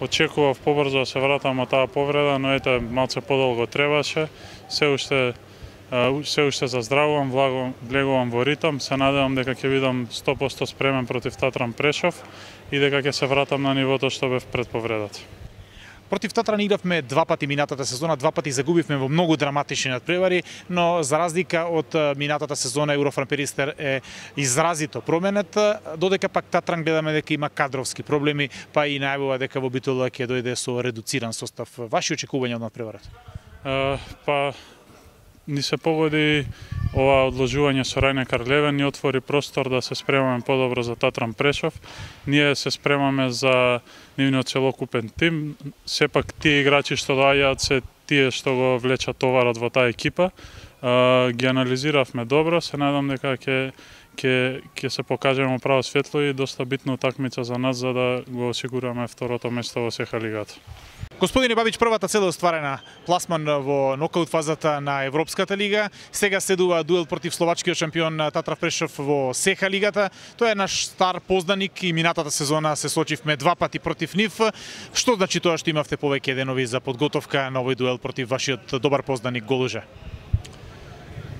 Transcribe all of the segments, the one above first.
очекував побрзо да се вратам од таа повреда, но ете малце подолго требаше. Се уште заздравувам, влегувам во ритам, се надевам дека ќе бидам 100% спремен против Татран Прешов и дека ќе се вратам на нивото што бев пред повредата. Против Татран игравме два пати минатата сезона, два пати загубивме во многу драматични надпревари, но за разлика од минатата сезона Еврофарм Перистер е изразито променет, додека пак Татран гледаме дека има кадровски проблеми, па и најавува дека во Битола ќе дојде со редуциран состав. Ваши очекувања од надпреварата? Па ни се погоди ова одложување со Рајне Карлевен, ни отвори простор да се спремаме подобро за Татран Прешов. Ние се спремаме за нивниот целокупен тим. Сепак тие играчи што доаѓаат се тие што го влечат товарот во таа екипа. Ги анализиравме добро, се надам дека ќе се покажеме право светло и доста битна утакмица за нас за да го осигураме второто место во СХ лигата. Господине Бабич, првата цел е остварена, пласман во нокаут фазата на Европската лига. Сега следува дуел против словачкиот шампион Татран Прешов во СХ лигата. Тој е наш стар познаник и минатата сезона се сочивме два пати против нив. Што значи тоа што имавте повеќе денови за подготовка на овој дуел против вашиот добар познаник Голужа?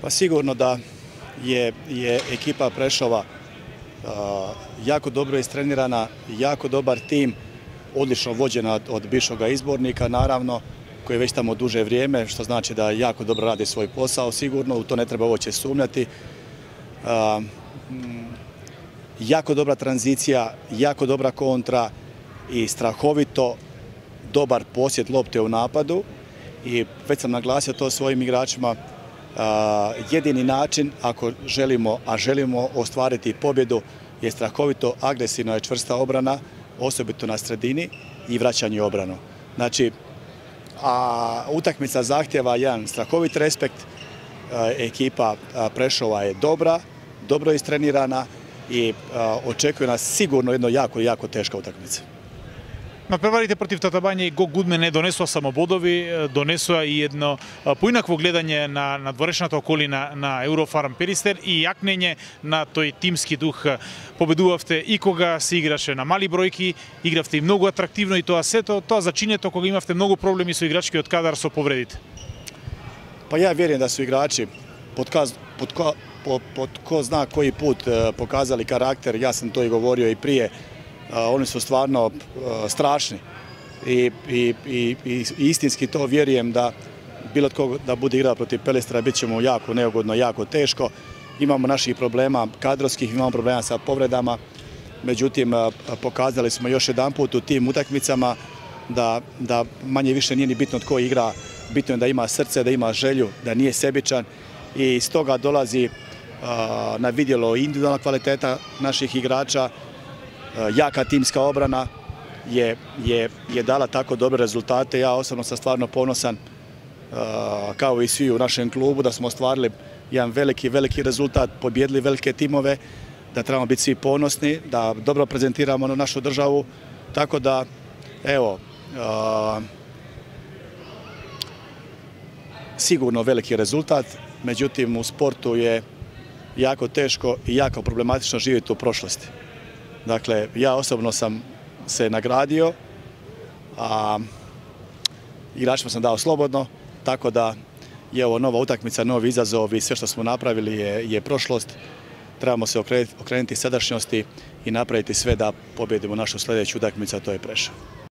Па сигурно да je ekipa Prešova jako dobro istrenirana, jako dobar tim, odlično vođena od bivšeg izbornika, naravno, koji je već tamo duže vrijeme, što znači da jako dobro radi svoj posao, sigurno, u to ne treba uopće sumnjati. Jako dobra tranzicija, jako dobra kontra i strahovito dobar posjed lopte u napadu. I već sam naglasio to svojim igračima, jedini način ako želimo ostvariti pobjedu je strahovito agresivna i čvrsta obrana, osobito na sredini i vraćanje u obranu. Znači, utakmica zahtjeva jedan strahovit respekt, ekipa Prešova je dobra, dobro istrenirana i očekuje nas sigurno jedno jako teška utakmica. Надпреварите против Татабања и Гог Гудмен не донесува само бодови, донесува и едно поинакво гледање на надворешната околина на Еврофарм Перистер и јакнење на тој тимски дух. Победувавте и кога се играше на мали бројки, игравте и многу атрактивно и тоа сето, тоа зачинето кога имавте многу проблеми со играчкиот кадар со повредите. Pa ja vjerujem da su igrači pod ko zna koji put pokazali karakter, ja sam to i govorio i prije. Oni su stvarno strašni i istinski to vjerujem da bilo tko da bude igrao protiv Pelistera bit ćemo jako neugodno, jako teško. Imamo naših problema kadrovskih, imamo problema sa povredama, međutim pokazali smo još jedanput u tim utakmicama da manje više nije ni bitno tko igra, bitno je da ima srce, da ima želju, da nije sebičan i iz toga dolazi na vidjelo individualna kvaliteta naših igrača. Jaka timska obrana je dala tako dobre rezultate. Ja osobno sam stvarno ponosan, kao i svi u našem klubu, da smo ostvarili jedan veliki rezultat, pobjedili velike timove, da trebamo biti svi ponosni, da dobro prezentiramo našu državu. Tako da, evo, sigurno veliki rezultat, međutim u sportu je jako teško i jako problematično živjeti u prošlosti. Dakle, ja osobno sam se nagradio, a igračima sam dao slobodno, tako da je ovo nova utakmica, novi izazov i sve što smo napravili je prošlost. Trebamo se okrenuti sadašnjosti i napraviti sve da pobjedimo našu sljedeću utakmicu, a to je Prešov.